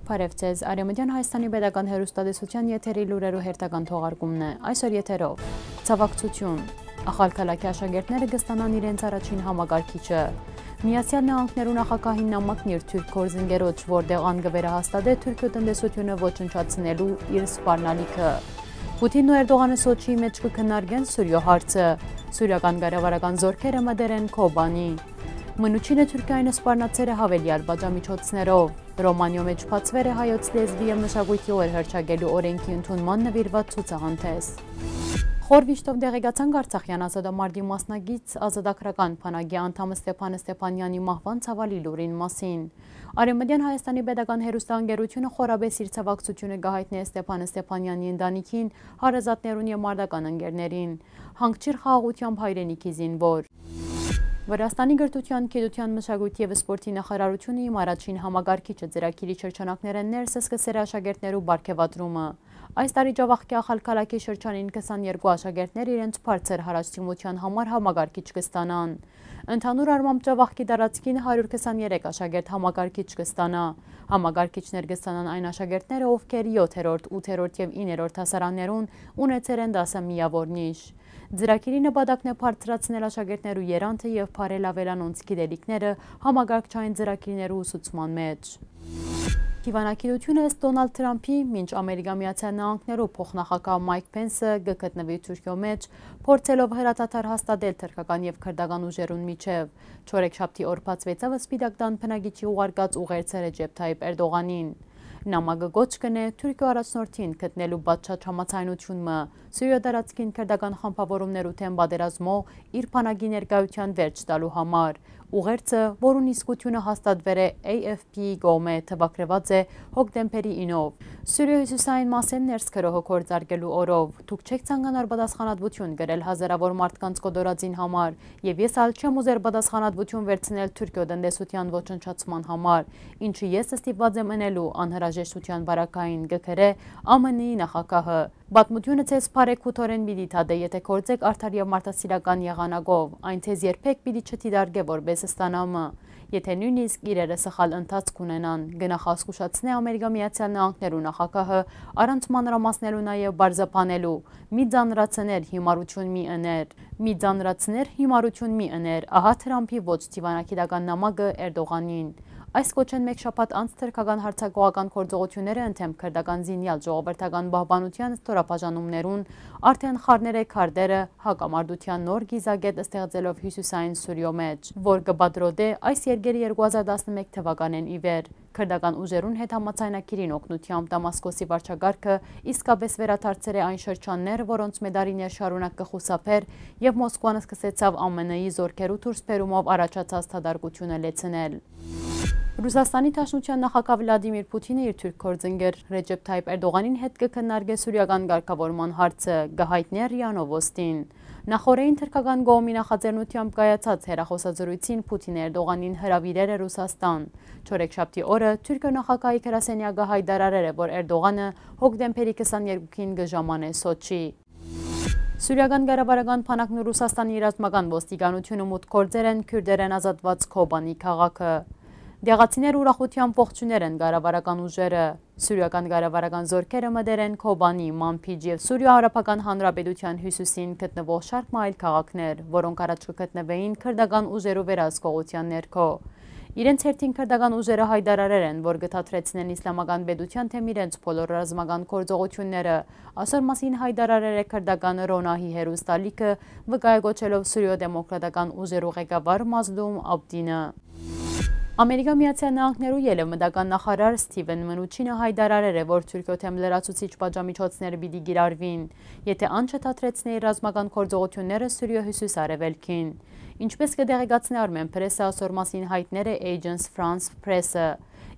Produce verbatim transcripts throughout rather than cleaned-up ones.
Բարեւ ձեզ, Արեւմտեան Հայաստանի Պետական Հեռուստատեսութեան եթերի լուրերու հերթական թողարկումն է այսօր եթերով։ Ցավակցութիւն։ Ախալքալաքի աշակերտները կստանան իրենց առաջին համակարգիչը։ Միացեալ Նահանգներու նախագահին նամակն իր թուրք գործընկերոջ, որտեղ ան կը վերահաստատէ Թուրքիոյ տնտեսութիւնը ոչնչացնելու իր սպառնալիքը։ Պուտինն ու Էրդողանը Սոչիի մէջ կը քննարկեն Սուրիոյ հարցը։ Սուրիական կառավարական զօրքերը մտեր են Քոբանի։ Մնուչինը Թուրքիային սպառնացեր է յաւելեալ պատժամիջոցներով։ Ռոմանիոյ մէջ բացուեր է հայոց լեզուի եւ մշակոյթի օր հռչակելու օրէնքի ընդունման նուիրուած ցուցահանդէս։ Խոր վիշտով տեղեկացանք Արցախեան ազատամարտի մասնակից ազատագրական բանակի անդամ Ստեփան Ստեփանեանի մահուան ցաւալի լուրին մասին։ Արեւմտեան Հայաստանի Պետական Հեռուստաընկերութիւնը խորապէս իր ցաւակցութիւնը կը յայտնէ Ստեփան Ստեփանեանի ընտանիքին, հարազատներուն եւ մարտական ընկերներին։ Հանգչիր խաղաղութեամբ հայրենիքի զինուոր։ Վրաստանի կրթութեան, գիտութեան, մշակոյթի եւ սպորտի նախարարութիւնը իմ առաջին համակարգիչը ծրագիրի շրջանակներէն ներս սկսեր աշակերտներու պարգեւատրումը։ Այս տարի Ջաւախքի Ախալքալաքի շրջանին քսաներկու աշակերտներ իրենց բարձր յարաչդիմութեան համար համակարգիչ կստանան։ Ընդհանուր առմամբ Ջաւախքի տարածքին հարիւր քսաներեք աշակերտ համակարգիչ կստանայ։ Համակարգիչներ կստանան այն աշակերտները, ովքեր եթերորդ, ութերորդ եւ իններորդ դասարաններուն ունեցեր են դասը միաւոր նիշ։ Ծրագիրի նպատակն է բարձրացնել աշակերտներու եռանդը եւ բարելավել անոնց գիտելիքները համակարգչային ծրագիրներու ուսուցման մէջ։ Դիվանագիտութիւնը ըստ Տոնալդ Թրամփի, մինչ Ամերիկա Միացեալ Նահանգներու փոխնախագահ Մայք Փենսը կը գտնուի Թուրքիոյ մէջ, փորձելով հրադադար հաստատել թրքական եւ քրտական ուժերուն միջեւ, չորեքշաբթի օր բացուեցաւ Սպիտակ տան բնակիչի ուղարկած ուղերձը Ռեջեփ Թայիփ Էրդողանին։ Նամակը կոչ կ'ընէ Թուրքիոյ առաջնորդին գտնելու պատշաճ համաձայնութիւն մը Սուրիոյ տարածքին քրտական խմբաւորումներու դէմ պատերազմով իր բանակի ներկայութեան վերջ տալու համար։ Ուղերձը, որուն իսկութիւնը հաստատուեր է A F P-ի կողմէ, թուակրուած է հոկտեմբերի ինով։ Սուրիոյ հիւսիսային մասէն ներս գրոհը գործարկելու օրով։ Դուք չէք ցանկանար պատասխանատվութիւն կրել հազարաւոր մարդկանց կոտորածին համար, եւ ես ալ չեմ ուզեր պատասխանատվութիւն վերցնել Թուրքիոյ տնտեսութեան ոչնչացման համար, ինչը ես ստիպուած եմ ընելու անհրաժեշտութեան պարագային, կը գրէ A M N-ի նախագահը։ Պատմութիւնը ձեզ բարեգութորեն պիտի դատէ, եթէ գործէք արդար եւ մարդասիրական եղանակով, այն ձեզ երբեք պիտի չդիտարկէ որպէս ստանամը, եթէ նոյնիսկ իրերը սխալ ընթացք ունենան, կը նախազգուշացնէ Ամերիկա Միացեալ Նահանգներու նախագահը, առանց մանրամասնելու նաեւ պարզաբանելու. «Մի ծանրացներ, հիմարութիւն մի ըներ, մի ծանրացներ, հիմարութիւն մի ըներ», ահա Թրամփի ոչ դիվանագիտական նամակը Էրդողանին։ Այս կոչէն մէկ շաբաթ անց թրքական յարձակողական գործողութիւնները ընդդէմ քրտական զինեալ ժողովրդական պահպանութեան ստորաբաժանումներուն արդէն խառներ է քարտերը հակամարտութեան նոր կիզակետ ստեղծելով հիւսիսային Սուրիոյ մէջ, որ կը պատրոտէ այս երկրի երկու հազար տասնմէկ թուականէն ի վեր քրտական ուժերուն հետ համաձայնագիրին օգնութեամբ Դամասկոսի վարչակարգը իսկապէս վերադարձեր է այն շրջաններ, որոնց մէ տարիներ շարունակ կը խուսափէր եւ Մոսկուան սկսեցաւ A M N-ի զօրքերու դուրսբերումով առաջացած դատարկութիւնը լեցնել։ Ռուսաստանի Դաշնութեան նախագահ Վլադիմիր Պուտինը իր թուրք գործընկեր Ռեջեփ Թայիփ Էրդողանին հետ կը քննարկէ սուրիական կարգաւորման հարցը, կը յայտնէ րիա Նովոստին։ Նախօրէին թրքական կողմի նախաձեռնութեամբ կայացած հեռախօսազրույցին Պուտինը Էրդողանին հրաւիրեր է Ռուսաստան։ Չորեքշաբթի օրը Թուրքիոյ նախագահի գրասենեակը յայտարարեր է, որ Էրդողանը հոկտեմբերի քսաներկուին կը ժամանէ Սոչի։ Սուրիական կառավարական բանակն ու Ռուսաստանի ռազմական ոստիկանութիւնը մուտք գործեր են քուրդերէն ազատուած Քոբանի քաղաքը։ Տեղացիները ուրախութեամբ ողջուներ են կառավարական ուժերը։ Սուրիական կառավարական զօրքերը մտեր են Քոբանի, Մանբիջ եւ Սուրիոյ Արաբական Հանրապետութեան հիւսիսին գտնուող շարք մը այլ քաղաքներ, որոնք առաջ կը գտնուէին քրտական ուժերու վերահսկողութեան ներքո։ Իրենց հերթին քրտական ուժերը յայտարարեր են, որ կը դադրեցնեն Իսլամական պետութեան դէմ իրենց բոլոր ռազմական գործողութիւնները։ Ասոր մասին յայտարարեր է քրտական Ռոնահի հեռուստալիքը, վկայակոչելով Սուրիոյ դեմոկրատական ուժերու ղեկավար Մազլում Աբդինը։ Ամերիկա Միացեալ Նահանգներու ելեւմտական նախարար Սթիվեն Մնուչինը յայտարարեր է, որ Թուրքիոյ դէմ լրացուցիչ պատժամիջոցներ պիտի կիրառուին, եթէ ան չդադրեցնէ իր ռազմական գործողութիւնները Սուրիոյ հիւսիս արեւելքին։ Ինչպես կը տեղեկացնէ Armen Press-ը, ասոր մասին յայտներ է Agence France Press-ը։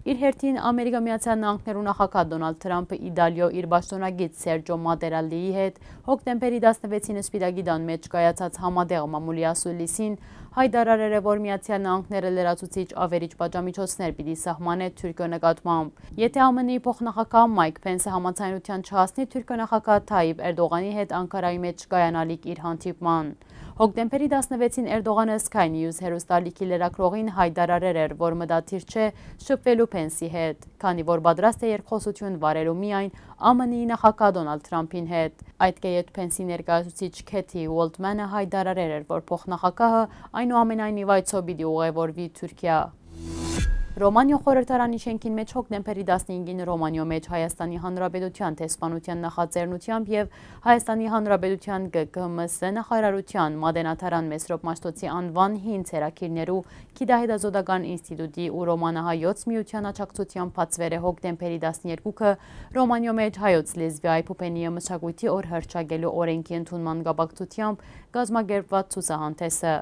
Իր հերթին Ամերիկա Միացեալ Նահանգներու նախագահ Դոնալդ Թրամփը Իտալիոյ իր պաշտօնագիծ Սերջո Մատերալլիի հետ հոկտեմբերի տասնվեցին Սպիտակի տան մէջ կայացած համատեղ մամուլի ասուլիսին յայտարարեր է, որ Միացեալ Նահանգները լրացուցիչ ավերիչ պատժամիջոցներ պիտի սահմանէ Թուրքիոյ նկատմամբ, եթէ A M N-ի փոխնախագահ Մայք Փենսը համաձայնութեան չհասնի Թուրքիոյ նախագահ Թայիփ Էրդողանի հետ Անկարայի մէջ կայանալիք իր հանդիպման։ Հոկտեմբերի տասնվեցին Էրդողանը Sky News հեռուստաալիքի լրագրողին յայտարարեր էր, որ մտադիր չէ շփուելու Փենսի հետ, քանի որ պատրաստ է երկխօսություն վարելու միայն Ա Մ Ն-ի նախագահ Դոնալդ Թրամփին հետ։ Այդ կը յետ Փենսի ներկայացուցիչ Քեթի Ուոլտմանը յայտարարեր էր, որ փոխնախագահը այնուամենայնիվ այսօ պիտի ուղևորուի Թուրքիա։ Ռոմանիոյ խորհրդարանի շենքին մէջ հոկտեմբերի տասնհինգին Ռոմանիոյ մէջ Հայաստանի Հանրապետութեան դեսպանութեան նախաձեռնությամբ եւ Հայաստանի Հանրապետութեան Գ Կ Մ Ս նախարարութեան Մատենադարան Մեսրոպ Մաշտոցի անուան հին ցերակիրներու գիտահետազոտական ինստիտուտի ու Ռոմանահայոց միութեան աջակցությամբ բացուեր է հոկտեմբերի տասներկուքը Ռոմանիոյ մէջ հայոց լեզուի, այբուբենի եւ մշակոյթի օր հռչակելու օրէնքի ընդունման կապակցությամբ կազմակերպուած ցուցահանդէսը։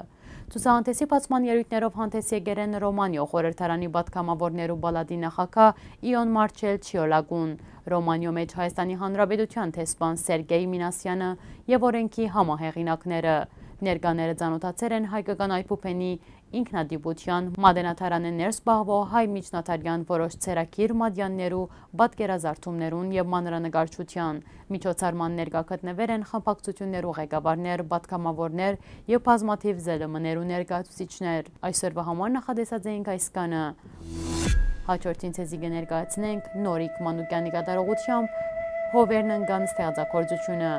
Ցուցահանդէսի բացման ելոյթներով հանդէս եկեր են Ռոմանիոյ խորհրդարանի պատգամաւորներու պալատի նախագահ Իոն Մարչել Չիոլագուն, Ռոմանիոյ մէջ Հայաստանի Հանրապետութեան դեսպան Սերգեյ Մինասյանը եւ օրէնքի համահեղինակները։ Ներկաները ծանօթացեր են հայկական այբուբենի ինքնատիպութեան, Մատենադարանը ներս պահուող հայ միջնադարեան որոշ ցերակիր մատեաններու, պատկերազարդումներուն եւ մանրանկարչութեան։ Միջոցառման ներկայ գտնուեր են խմբակցութիւններու ղեկավարներ, պատգամաւորներ եւ բազմաթիւ Զ Լ Մ-ներու ներկայացուցիչներ։ Այսօրուայ համար նախատեսած էինք այսքանը։ Հաջորդին ձեզի կը ներկայացնենք Նորիկ Մանուկեանի կատարողությամբ Հովերն ընկան ստեղծագործութիւնը։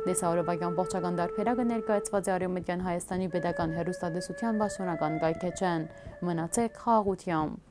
Տեսահոլովակի ամբողջական տարբերակը ներկայացուած է Արեւմտյան Հայաստանի Պետական Հեռուստատեսութեան պաշտօնական կայքէջէն։ Մնացէք խաղաղութեամբ։